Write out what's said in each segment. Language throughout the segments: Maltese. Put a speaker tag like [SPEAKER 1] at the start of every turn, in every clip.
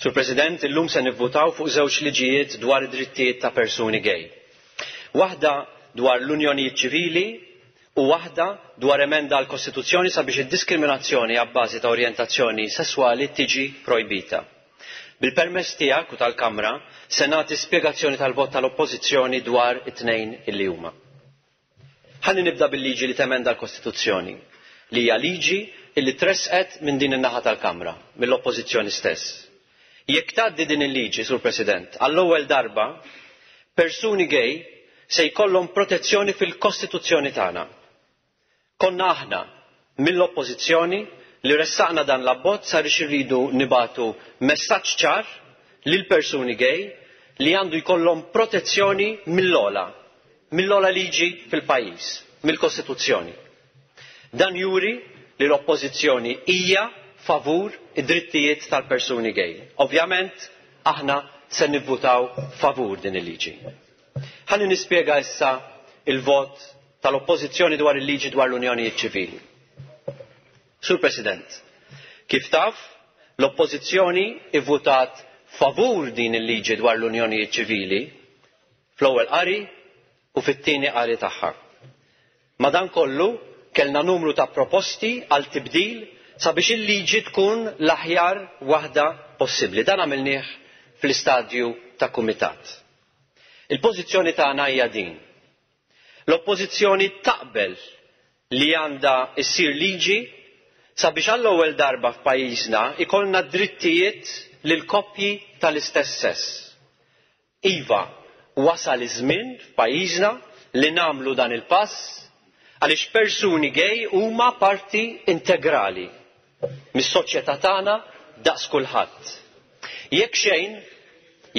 [SPEAKER 1] Sur President, illum se nivvutaw fuq żewġ liġijiet dwar id-drittijiet ta' persuni gay. Waħda dwar l-unjonijiet ċivili u waħda dwar emenda għall-Kostituzzjoni sabiex id-diskriminazzjoni abbażi ta' orjentazzjoni sesswali tiġi projbita. Bil-permess tiegħek u tal-Kamra, se nagħti spjegazzjoni tal-vot tal-Oppożizzjoni dwar it-tnejn illi huma. Ħalli nibda bil-liġi li temenda l-Kostituzzjoni, li hija liġi illi tressqet minn din in-naħa tal-Kamra, mill-Oppożizzjoni stess. Jekk tgħaddi din il-liġi, Sur President, għall-ewwel darba, persuni gay se jkollhom protezzjoni fil-Kostituzzjoni tagħna. Konna aħna, mill-Oppożizzjoni, li ressaqna dan l-abbozz għaliex irridu nibagħtu messaġġ ċar lill-persuni gay li għandu jkollhom protezzjoni mill-ogħla, mill-ogħla liġi fil-pajjiż, mill-Kostituzzjoni. Dan juri li l-Oppożizzjoni hija favur id-drittijiet tal-persuni gay. Ovvjament, aħna se nivvutaw favur din il-liġi. Ħalli nispjega issa il-vot tal-Oppożizzjoni dwar il-liġi dwar l-unjonijiet ċivili. Sur President, kif taf, l-Oppożizzjoni ivvutat favur din il-liġi dwar l-unjonijiet ċivili fl-ewwel qari u fit-tieni qari tagħha. Madankollu, kellna numru ta' proposti għal tibdil sabiex il-liġi tkun l-aħjar waħda possibbli. Dan għamilnieh fl-istadju ta' kumitat. Il-pożizzjoni tagħna hija din. L-Oppożizzjoni taqbel li għandha ssir liġi sabiex għall-ewwel darba f'pajjiżna jkollna drittijiet lil koppji tal-istess sess. Iva, wasal iż-żmien f'pajjiżna li nagħmlu dan il-pass għaliex persuni gay huma parti integrali mis-soċjetà tagħna daqs kulħadd. Jekk xejn,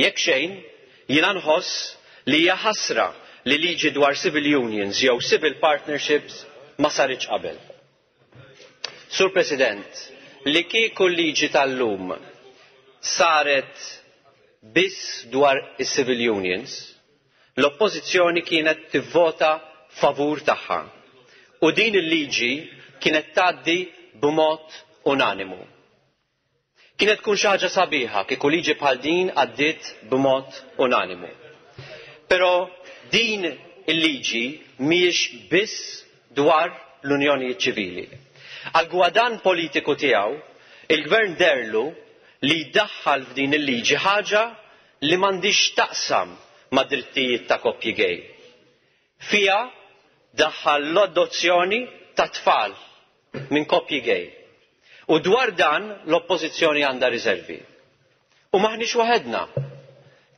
[SPEAKER 1] jekk xejn, jiena nħoss li hija ħasra li liġi dwar civil unions jew civil partnerships ma saritx qabel. Sur President, li kieku l-liġi tal-lum saret biss dwar is-civil unions, l-Oppożizzjoni kienet tivvota favur tagħha u din il-liġi kienet tgħaddi b'mod unanimu. Kienet tkun xi ħaġa sabiħa kieku liġi bħal din għaddiet b'mod unanimu. Però din il-liġi mhijiex biss dwar l-unjonijiet ċivili. Għall-gwadann politiku tiegħu, il-Gvern deherlu li jdaħħal f'din il-liġi ħaġa li m'għandhiex x'taqsam mad-drittijiet ta' koppji gay. Fiha daħħal l-adozzjoni ta' tfal minn koppji gay. U dwar dan l-Oppożizzjoni għandha riservi. U m'aħniex waħedna.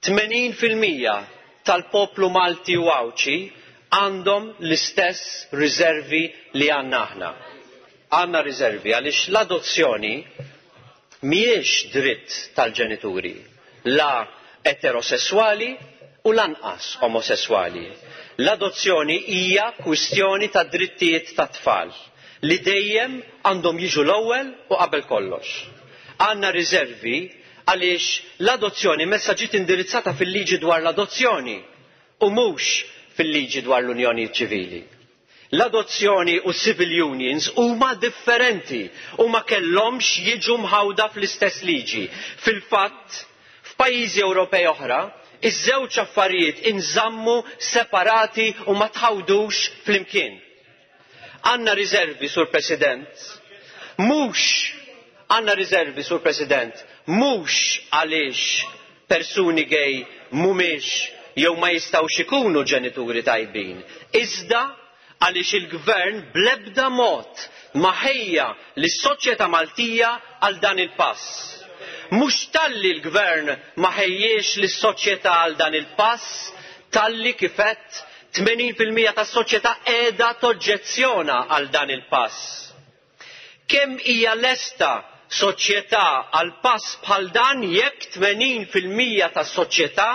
[SPEAKER 1] 80% tal-poplu Malti u Għawdxi għandhom l-istess riservi li għandna aħna. Għandna riservi għaliex l-adozzjoni mhijiex dritt tal-ġenituri, la eterosesswali u lanqas omosesswali. L-adozzjoni hija kwistjoni ta' drittijiet tat-tfal li dejjem għandhom jiġu l-ewwel u qabel kollox. Għandna riservi għaliex l-adozzjoni messha ġiet indirizzata fil-liġi dwar l-adozzjoni u mhux fil-liġi dwar l-unjonijiet ċivili. L-adozzjoni u s-civil unions huma differenti u ma kellhomx jiġu mħawda fl-istess liġi. Fil-fatt, f'pajjiżi Ewropej oħra, iż-żewġ affarijiet inżammu separati u ma tħawdux flimkien. Għandna riservi, Sur President, mhux għandna riservi, Sur President, mhux għaliex persuni gay mhumiex jew ma jistgħux ikunu ġenituri tajbin, iżda għaliex il-Gvern bl-ebda mod ma ħejja lis-soċjetà Maltija għal dan il-pass. Mhux talli l-Gvern ma ħejjiex lis-soċjetà għal dan il-pass, talli kif għedt 80% tas-soċjetà qiegħda toġġezzjona għal dan il-pass. Kemm hija lesta soċjetà għal pass bħal dan jekk 80% tas-soċjetà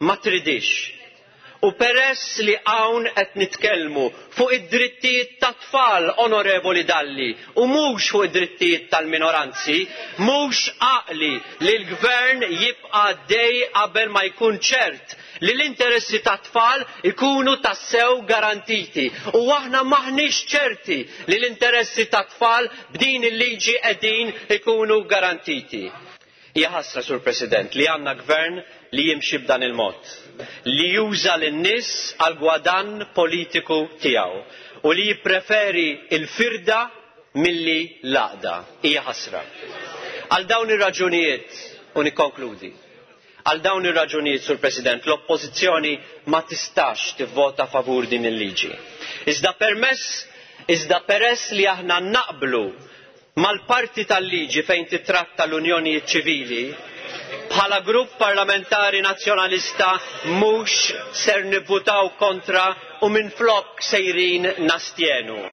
[SPEAKER 1] ma tridhiex? U peress li hawn qed nitkellmu fuq id-drittijiet tat-tfal, Onorevoli Dalli, u mhux fuq id-drittijiet tal-minoranzi, mhux għaqli li l-Gvern jibqa' għaddej qabel ma jkun ċert li l-interessi tat-tfal ikunu tassew garantiti. U aħna m'aħniex ċerti li l-interessi tat-tfal b'din il-liġi qegħdin ikunu garantiti. Hija ħasra, Sur President, li għandna gvern li jimxi b'dan il-mod, li juża lin-nies għall-gwadann politiku tiegħu u li jippreferi l-firda milli l-għaqda. Hija ħasra. Għal dawn ir-raġunijiet, u nikkonkludi, għal dawn ir-raġunijiet, Sur President, l-Oppożizzjoni ma tistax tivvota favur din il-liġi. Iżda permess iżda peress li aħna naqblu mal-parti tal-liġi fejn titratta l-unjonijiet ċivili, bħala grupp parlamentari Nazzjonalista mhux ser nivvutaw kontra u minflok sejrin nastjenu.